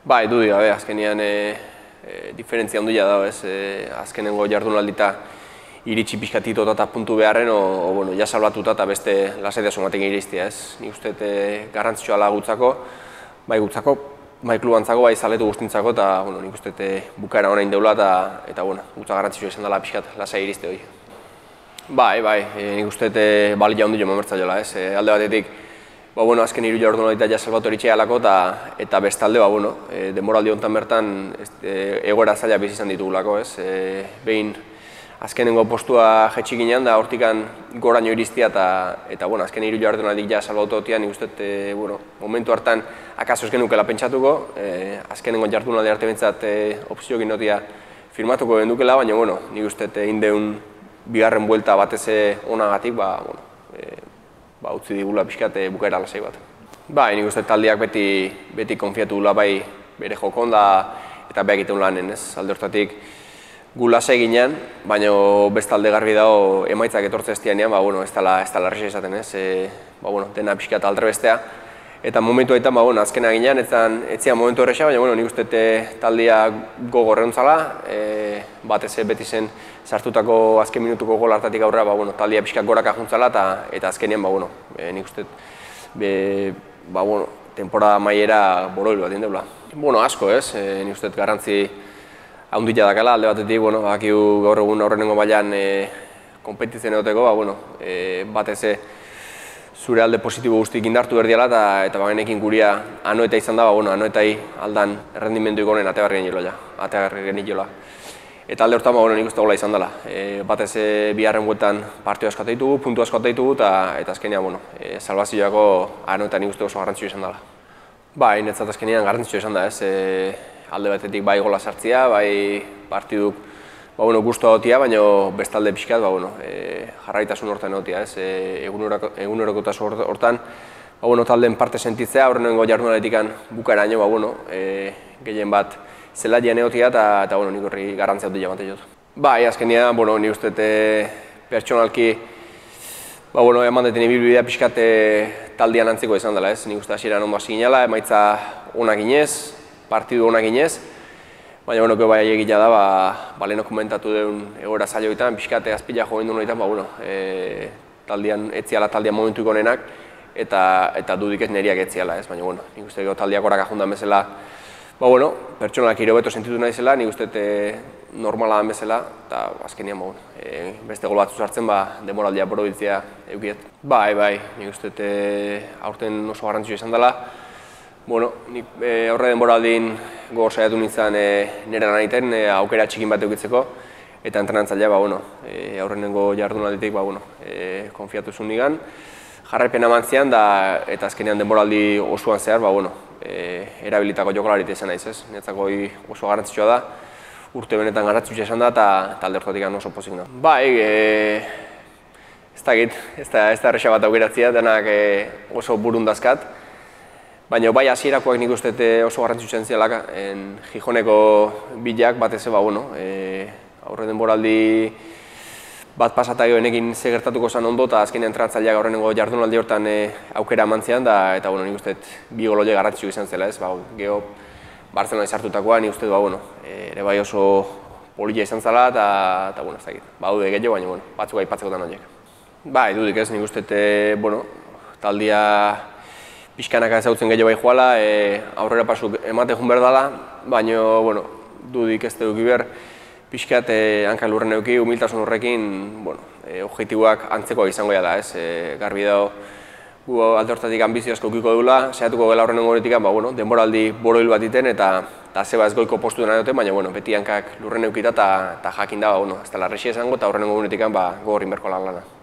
Bai, dudi gabe, azkenean diferentzia handia dago, ez, azkenengo jardunaldita iritsi pixkatito eta puntu beharren, bueno, ja salbatuta eta beste lasaitasun batekin iristia, ez. Nik uste garrantzitsua da gutzako, bai klubantzako, bai zaletu guztintzako, eta bueno, nik uste bukaera honain deula eta bueno, gutza garrantzitsua izan dela pixkat lasai iriste hori. Bai, nik uste balia handio mamertza jola, ez. Alde batetik, bueno, azken 3 jardunaldita ja salbatu eritxea alako eta bestalde, bueno, denboraldi honetan bertan egoera zaila bizi izan ditugulako, ez. Behin azkenengo postua jetxi ginen da hortikan goraino iristia eta bueno, azken 3 jardunaldik ja salbatu hotian, nik uste, bueno, momentu hartan akaso ez genukela pentsatuko, azkenengo jardunaldi arte bintzat opzio ginotia firmatuko gendukela, baina, bueno, nik uste indeun bigarren buelta batez onagatik, bueno, utzi digula pixkat bukaera lasai bat. Bai, nik uste taldeak beti konfiatu dula bai bere jokon eta beha egiten lanen, ez, alde hortatik gu lasai ginen, baina bestalde garbi dago emaitzak etortze ez dianean, bueno, ez dela erresa izaten, ez, bueno, dena pixkat aldre bestea. Eta momentu haitan, bueno, azkena ginen, ez zian momentu erresa, baina, bueno, nik uste taldea gogorreuntzala, batez beti zen sartutako azken minutuko gol hartatik aurrera, bueno, taldea pixkat goraka juntzala eta azkenean, bueno, nik uste, bueno, temporada maiera boroil bat indeula. Bueno, asko, ez, nik uste garrantzi handia dakala, alde batetik, bueno, bakiu gaur egun aurrenengo mailan konpetitzen egoteko, bueno, batez zure alde positibo guztik indartu berdiala eta bagenekin guria anoeta izan da, bueno, anoetai aldan errendimendu ikonen ategarri geniola. Eta alde hortan, bueno, nik uste gola izan dela. Batez biharren bueltan partio asko ditugu, puntu asko ditugu eta azkenean, bueno, salbazioako anoeta nik uste oso garrantzitsua izan dela. Bai, netzat azkenean garrantzitsua izan da, ez, alde batetik bai gola sartzea, bai partiduk guztua dotia, baina bestalde pixkat, jarraitasun hortan dotia, ez, egunerokotasun hortan, taldeen parte sentitzea, aurrenengo jardunaletikan bukaeraino, gehien bat zelaian egotia eta nik horri garrantzia dut jamate jot. Bai, azkenean, nik uste pertsonalki eman deten ibilbidea pixkat taldean antzeko izan dela, ez, nik uste hasieran ondo hasi ginela, emaitza onak ginez, partidu onak ginez, baina, bai egitea da, leheno komentatu duen egoera zailo egiten, pixkate azpila jo gendun egiten, taldean etziala taldean momentu ikonenak, eta dudik ez neriak etziala, ez, baina, nik uste taldeak horak ajundan bezala, pertsonalak irobeto sentitu nahi zela, nik uste normala den bezala, eta azkenean, beste gol batzu sartzen, demoraldia borobiltzea eukiet. Bai, nik uste aurten oso garrantzitsua izan dela, nik aurre denboraldin gogor saiatu nintzen nire lan egiten aukera txikin bat eukitzeko eta entrenatzailea aurrenengo jardunalditik konfiatu zuen nigan. Jarraipena eman zian eta azkenean denboraldi osoan zehar erabilitako jokalarit izan naiz, ez. Niretzako oso garrantzitsua da, urte benetan garrantzitsua izan da eta talde hortatik oso pozik da. Bai, ez da erresa bat aukeratzea, denak oso burundazkat. Baina bai hasierakoak nik uste oso garrantzitsuak zielak Gijoneko bilak batez aurre denboraldi bat pasatagio enekin ze gertatuko zen ondo eta azkenean entrenatzailea aurrenengo jardunaldi hortan aukera eman zian eta nik uste bi gol horiek garrantzitsuak izan zela, ez, geho Bartzelonai sartutakoa nik uste ere bai oso polita izan zela eta ez dakit, badude gehiago baina batzuk aipatzekotan horiek. Bai, dudik ez, nik uste taldea pixkanaka ezagutzen gehiago bai joala, aurrera pasuk emate joan behar dela, baina, dudik ez duki behar, pixkat hankak lurren euki, humiltasun horrekin, objektiboak antzekoak izango da, ez, garbi dago, gu alde hortatik ambizio asko ukiko dula, saiatuko gela horrenengo horretik, denboraldi boroil bat iten eta zeba ez goiko postu dena dute, baina, beti hankak lurren eukita eta jakin da, ez dela errexia izango eta horrenengo horretik gogorrin berko lan lana.